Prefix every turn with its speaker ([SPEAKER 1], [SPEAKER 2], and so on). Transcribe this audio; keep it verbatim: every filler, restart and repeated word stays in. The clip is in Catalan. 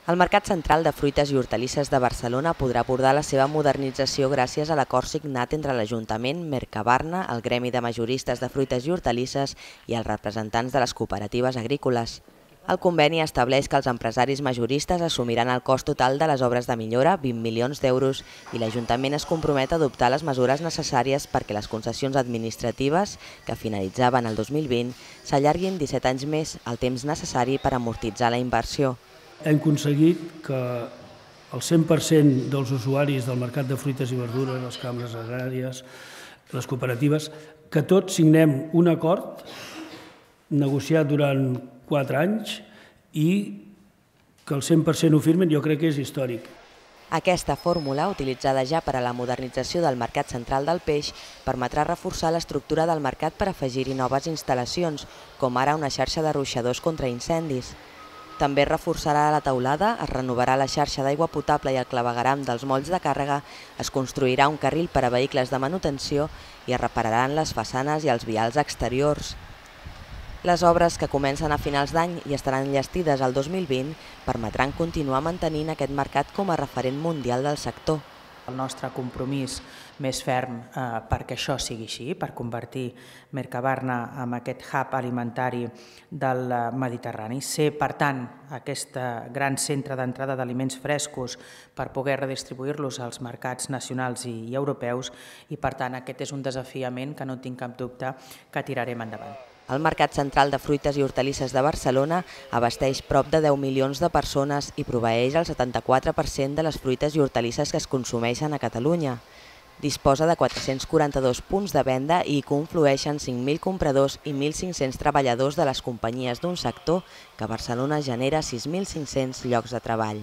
[SPEAKER 1] El Mercat Central de Fruites i Hortalisses de Barcelona podrà abordar la seva modernització gràcies a l'acord signat entre l'Ajuntament, Mercabarna, el Gremi de Majoristes de Fruites i Hortalisses i els representants de les cooperatives agrícoles. El conveni estableix que els empresaris majoristes assumiran el cost total de les obres de millora, vint milions d'euros, i l'Ajuntament es compromet a adoptar les mesures necessàries perquè les concessions administratives, que finalitzaven el dos mil vint, s'allarguin disset anys més, el temps necessari per amortitzar la inversió.
[SPEAKER 2] Hem aconseguit que el cent per cent dels usuaris del mercat de fruites i verdures, les cambres agràries, les cooperatives, que tots signem un acord negociat durant quatre anys i que el cent per cent ho firmen, jo crec que és històric.
[SPEAKER 1] Aquesta fórmula, utilitzada ja per a la modernització del Mercat Central del Peix, permetrà reforçar l'estructura del mercat per afegir-hi noves instal·lacions, com ara una xarxa de ruixadors contra incendis. També reforçarà la teulada, es renovarà la xarxa d'aigua potable i el clavegueram dels molls de càrrega, es construirà un carril per a vehicles de manutenció i es repararan les façanes i els vials exteriors. Les obres, que comencen a finals d'any i estaran enllestides al dos mil vint, permetran continuar mantenint aquest mercat com a referent mundial del sector.
[SPEAKER 3] El nostre compromís més ferm eh, perquè això sigui així, per convertir Mercabarna en aquest hub alimentari del Mediterrani, ser, per tant, aquest gran centre d'entrada d'aliments frescos per poder redistribuir-los als mercats nacionals i europeus i, per tant, aquest és un desafiament que no tinc cap dubte que tirarem endavant.
[SPEAKER 1] El Mercat Central de Fruites i Hortalisses de Barcelona abasteix prop de deu milions de persones i proveeix el setanta-quatre per cent de les fruites i hortalisses que es consumeixen a Catalunya. Disposa de quatre-cents quaranta-dos punts de venda i hi conflueixen cinc mil compradors i mil cinc-cents treballadors de les companyies d'un sector que a Barcelona genera sis mil cinc-cents llocs de treball.